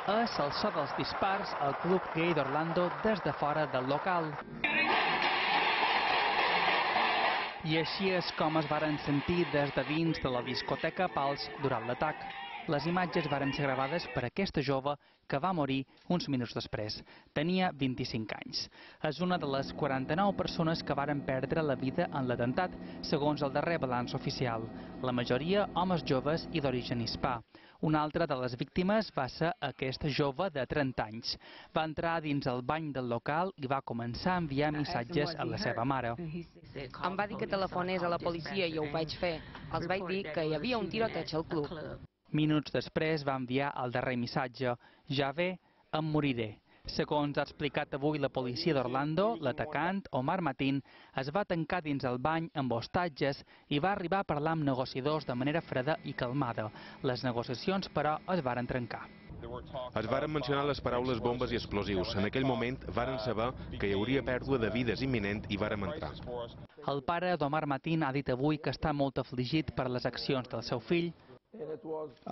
és el so dels dispars al club gai d'Orlando des de fora del local. I així és com es varen sentir des de dins de la discoteca Pals durant l'atac. Les imatges varen ser gravades per aquesta jove que va morir uns minuts després. Tenia 25 anys. És una de les 49 persones que varen perdre la vida en l'atemptat, segons el darrer balanç oficial. La majoria homes joves i d'origen hispà. Una altra de les víctimes va ser aquesta jove de 30 anys. Va entrar dins el bany del local i va començar a enviar missatges a la seva mare. Em va dir que telefonés a la policia i ho vaig fer. Els vaig dir que hi havia un tiroteig al club. Minuts després va enviar el darrer missatge: ja ve, em moriré. Segons ha explicat avui la policia d'Orlando, l'atacant, Omar Mateen, es va tancar dins el bany amb hostatges i va arribar a parlar amb negociadors de manera freda i calmada. Les negociacions, però, es varen trencar. Es varen mencionar les paraules bombes i explosius. En aquell moment varen saber que hi hauria pèrdua de vides imminent i vàrem entrar. El pare d'Omar Mateen ha dit avui que està molt afligit per les accions del seu fill.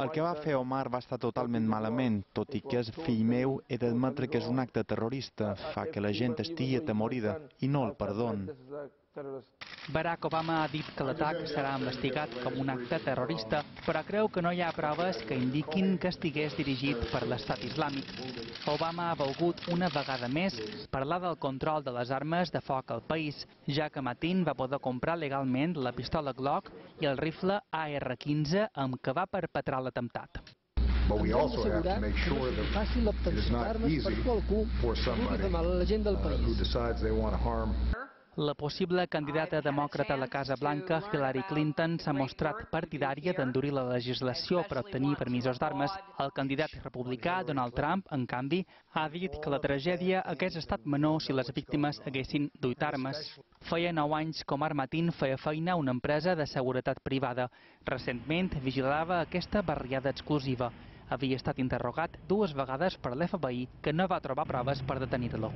El que va fer Omar va estar totalment malament, tot i que és fill meu, he d'admetre que és un acte terrorista, fa que la gent estigui atemorida i no el perdon. Barack Obama ha dit que l'atac serà investigat com un acte terrorista, però creu que no hi ha proves que indiquin que estigués dirigit per l'estat islàmic. Obama ha volgut una vegada més parlar del control de les armes de foc al país, ja que Mateen va poder comprar legalment la pistola Glock i el rifle AR-15 amb què va perpetrar l'atemptat. But we also have to make sure that it is not easy for somebody who decides they want to harm. La possible candidata demòcrata a la Casa Blanca, Hillary Clinton, s'ha mostrat partidària d'endurir la legislació per obtenir permisos d'armes. El candidat republicà, Donald Trump, en canvi, ha dit que la tragèdia hagués estat menor si les víctimes haguessin duit armes. Feia 9 anys que Omar Mateen feia feina a una empresa de seguretat privada. Recentment vigilava aquesta barriada exclusiva. Havia estat interrogat 2 vegades per l'FBI, que no va trobar proves per detenir-lo.